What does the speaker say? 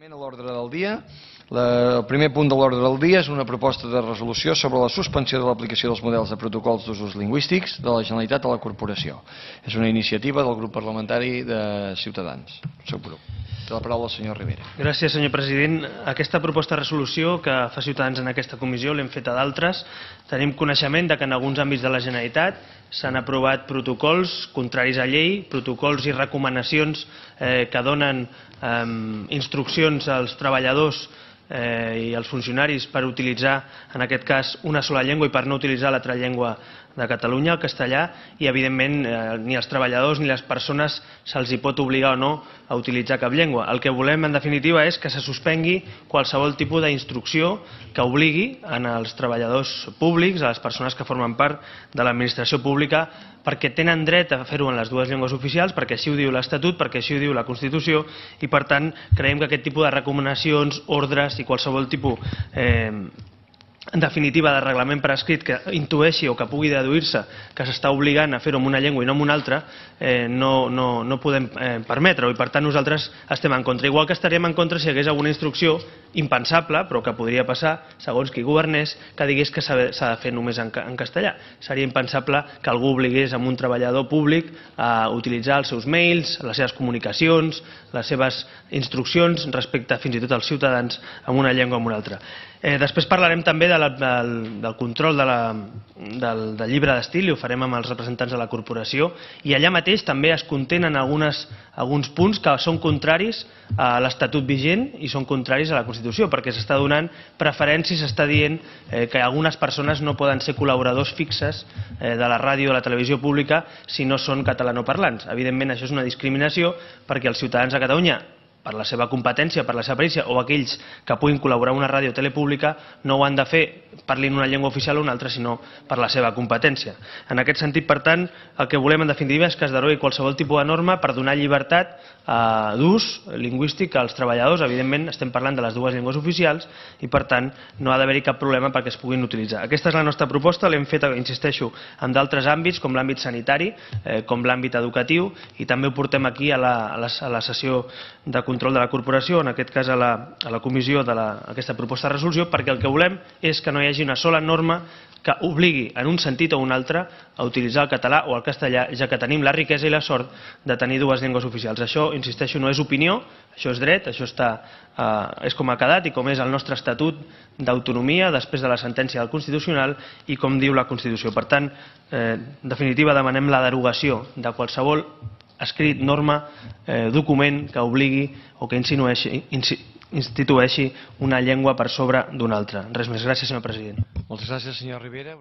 A l'ordre del dia, el primer punt de l'ordre del dia és una proposta de resolució sobre la suspensió de l'aplicació dels models de protocols d'usos lingüístics de la Generalitat a la Corporació. És una iniciativa del grup parlamentari de Ciutadans. Seu grup. Té la paraula el senyor Rivera. Gràcies, senyor president. Aquesta proposta de resolució que fa Ciutadans en aquesta comissió l'hem fet a d'altres. Tenim coneixement que en alguns àmbits de la Generalitat s'han aprovat protocols contraris a llei, protocols i recomanacions que donen instruccions als treballadors i als funcionaris per utilitzar, en aquest cas, una sola llengua i per no utilitzar l'altra llengua de Catalunya, el castellà, i evidentment ni als treballadors ni a les persones se'ls pot obligar o no a utilitzar cap llengua. El que volem en definitiva és que se suspengui qualsevol tipus d'instrucció que obligui als treballadors públics, a les persones que formen part de l'administració pública, perquè tenen dret a fer-ho en les dues llengües oficials, perquè així ho diu l'Estatut, perquè així ho diu la Constitució, i per tant creiem que aquest tipus de recomanacions, ordres i qualsevol tipus en definitiva de reglament per escrit que intueixi o que pugui deduir-se que s'està obligant a fer-ho en una llengua i no en una altra, no podem permetre-ho, i per tant nosaltres estem en contra. Igual que estaríem en contra si hi hagués alguna instrucció impensable, però que podria passar, segons qui governés, que digués que s'ha de fer només en castellà. Seria impensable que algú obligués a un treballador públic a utilitzar els seus mails, les seves comunicacions, les seves instruccions respecte fins i tot als ciutadans en una llengua o en una altra. Després parlarem també del control del llibre d'estil, i ho farem amb els representants de la corporació, i allà mateix també es contenen alguns punts que són contraris a l'Estatut vigent i són contraris a la Constitució, perquè s'està donant preferències, s'està dient que algunes persones no poden ser col·laboradors fixes de la ràdio o de la televisió pública si no són catalanoparlants. Evidentment això és una discriminació perquè els ciutadans de Catalunya, per la seva competència, per la seva perícia, o aquells que puguin col·laborar en una ràdio o tele pública, no ho han de fer, parlin una llengua oficial o una altra, sinó per la seva competència. En aquest sentit, per tant, el que volem en definitiva és que es derogui qualsevol tipus de norma per donar llibertat d'ús lingüístic als treballadors. Evidentment, estem parlant de les dues llengües oficials i, per tant, no ha d'haver-hi cap problema perquè es puguin utilitzar. Aquesta és la nostra proposta, l'hem fet, insisteixo, en d'altres àmbits, com l'àmbit sanitari, com l'àmbit educatiu, i també ho portem aquí a la sessió de control de la corporació, en aquest cas a la comissió d'aquesta proposta de resolució, perquè el que volem és que no hi hagi una sola norma que obligui en un sentit o un altre a utilitzar el català o el castellà, ja que tenim la riquesa i la sort de tenir dues llengües oficials. Això, insisteixo, no és opinió, això és dret, això és com ha quedat i com és el nostre estatut d'autonomia després de la sentència del Constitucional i com diu la Constitució. Per tant, en definitiva, demanem la derogació de qualsevol escrit, norma, document que obligui o que institueixi una llengua per sobre d'una altra. Res més. Gràcies, senyor president. Moltes gràcies, senyor Rivera.